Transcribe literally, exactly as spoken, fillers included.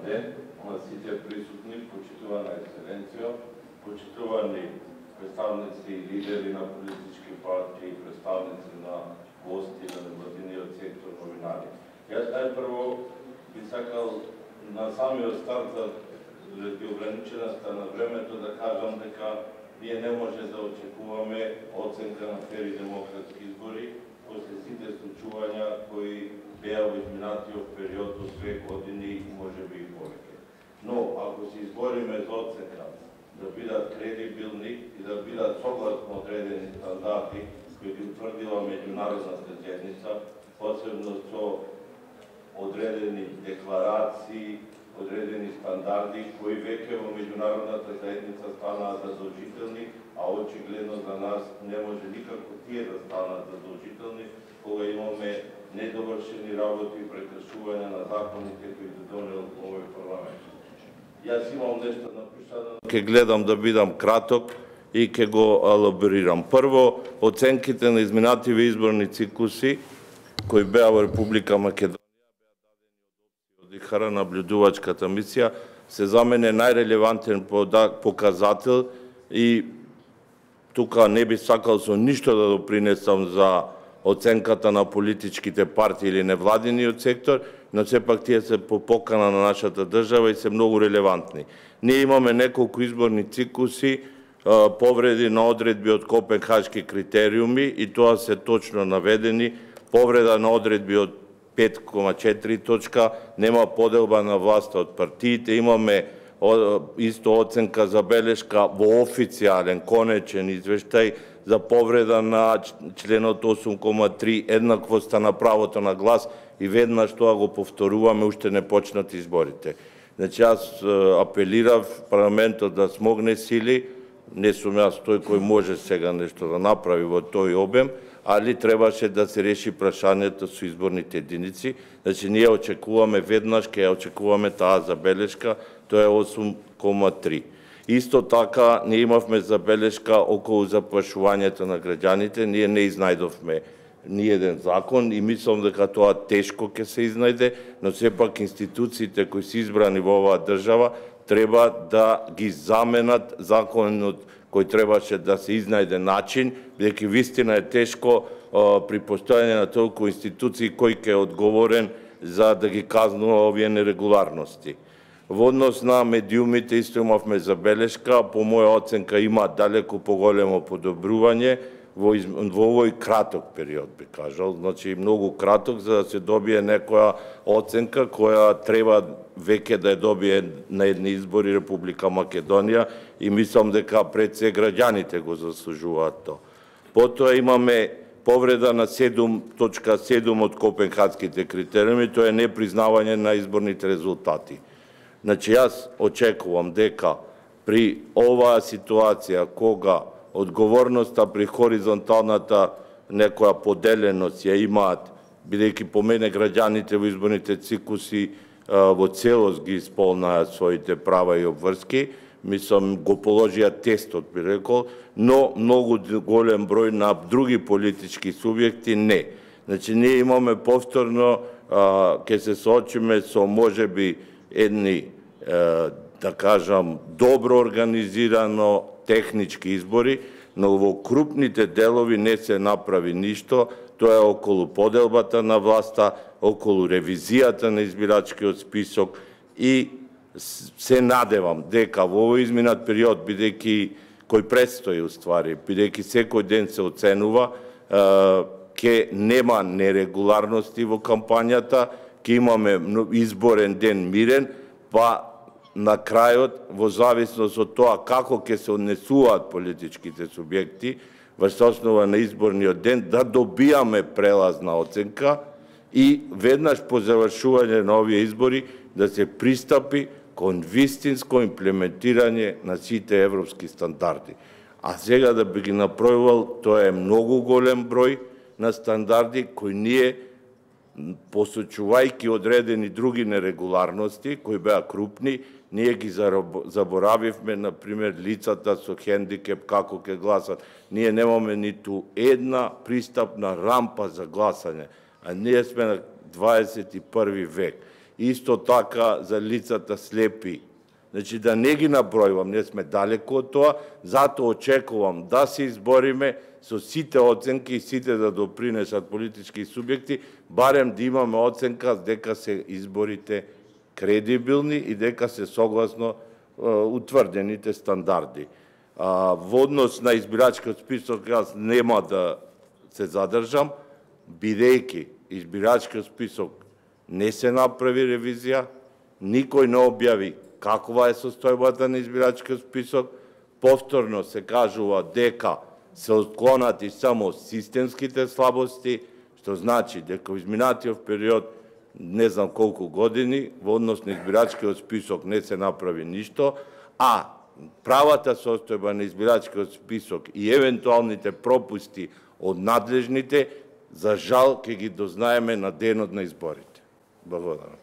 ден на сите присутни, почитувана ексцеленцијо, почитувани представници и лидери на политички партии, представници на гости на невладиниот сектор, новинари. Јас најпрво би сакал на самиот старт, заради ограниченоста на времето, да кажам дека ние не може да очекуваме оценка на фер и демократски избори после сите случувања кои беа во изминатиот период од две години и може би и повеќе. Но ако се избориме за оценка да бидат кредибилни и да бидат согласно одредени стандарди кои ги утврдила меѓународната заедница, посебно со одредени декларации, одредени стандарди кои веќе во меѓународната заедница станаат задолжителни, а очигледно за нас не може никако тие да станат задолжителни кога имаме недовршени работи и прекршување на законите кои ги донел овој парламент. Јас имам нешто напишано. Ке гледам да бидам краток и ке го елаборирам. Прво, оценките на изминативе изборни циклуси кои беа во Република Македонија Хара наблюдувачката мисија се за мене најрелевантен показател и тука не би сакал со ништо да допринесам за оценката на политичките партии или невладиниот сектор, но сепак тие се по покана на нашата држава и се многу релевантни. Ние имаме неколку изборни циклуси, повреди на одредби од Копенхашки критериуми и тоа се точно наведени, повреда на одредби од пет кoma четири точка, нема поделба на власта од партиите, имаме исто оценка забелешка во официјален, конечен извештај за повреда на членот осум кома три, еднаквоста на правото на глас и веднаш тоа го повторуваме, уште не почнат изборите. Значи, јас апелирав парламентот да смогне сили, не сум јас тој кој може сега нешто да направи во тој обем, али требаше да се реши прашањето со изборните единици. Значи, ние очекуваме веднаш, ке очекуваме таа забелешка, тоа е осум кома три. Исто така, ние имавме забелешка околу заплашувањето на граѓаните, ние не изнајдовме ни еден закон и мислам дека тоа тешко ќе се изнајде, но сепак институциите кои се избрани во оваа држава треба да ги заменат законот кој требаше да се изнајде начин, бидејќи вистина е тешко при постојање на толку институции кој ќе е одговорен за да ги казнува овие нерегуларности. Во однос на медиумите исто имавме забелешка, по моја оценка има далеку поголемо подобрување во, из... во овој краток период, би кажал, значи многу краток за да се добие некоја оценка која треба веќе да ја добие на едни избори Република Македонија и мислам дека пред се граѓаните го заслужуваат тоа. Потоа имаме повреда на седум точка седум од Копенхаските критериуми, тоа е непризнавање на изборните резултати. Значи, јас очекувам дека при оваа ситуација, кога одговорноста при хоризонталната некоја поделеност ја имаат, бидејќи по мене граѓаните во изборните циклуси во целост ги исполнаа своите права и обврски, мислам го положија тестот, би рекол, но многу голем број на други политички субјекти не. Значи, ние имаме повторно, ќе се соочиме со можеби едни, да кажам, добро организирано технички избори, но во крупните делови не се направи ништо. Тоа е околу поделбата на власта, околу ревизијата на избирачкиот список и се надевам дека во овој изминат период, бидејќи кој предстои уствари, бидејќи секој ден се оценува, ќе нема нерегуларности во кампањата, ќе имаме изборен ден мирен, па на крајот, во зависност од тоа како ќе се однесуваат политичките субјекти, во основа на изборниот ден, да добијаме прелазна оценка и веднаш по завршување на овие избори да се пристапи кон вистинско имплементирање на сите европски стандарди. А сега да би ги напројувал, тоа е многу голем број на стандарди кои ние, посочувајќи одредени други нерегуларности, кои беа крупни, ние ги заборавивме, например, лицата со хендикеп, како ќе гласат. Ние немаме ниту една пристапна рампа за гласање, а ние сме на дваесет и први век. исто така за лицата слепи. Значи да не ги набројувам, не сме далеку од тоа, затоа очекувам да се избориме со сите оценки и сите да допринесат политички субјекти, барем да имаме оценка дека се изборите кредибилни и дека се согласно е, утврдените стандарди. А, во однос на избирачкиот список, јас нема да се задржам, бидејќи избирачкиот список не се направи ревизија, никој не објави каква е состојбата на избирачкиот список, повторно се кажува дека се отклонати само системските слабости, што значи дека во изминатиот период, не знам колку години, во однос на избирачкиот список не се направи ништо, а правата состојба на избирачкиот список и евентуалните пропусти од надлежните, за жал ќе ги дознаеме на денот на изборите. Благодарам.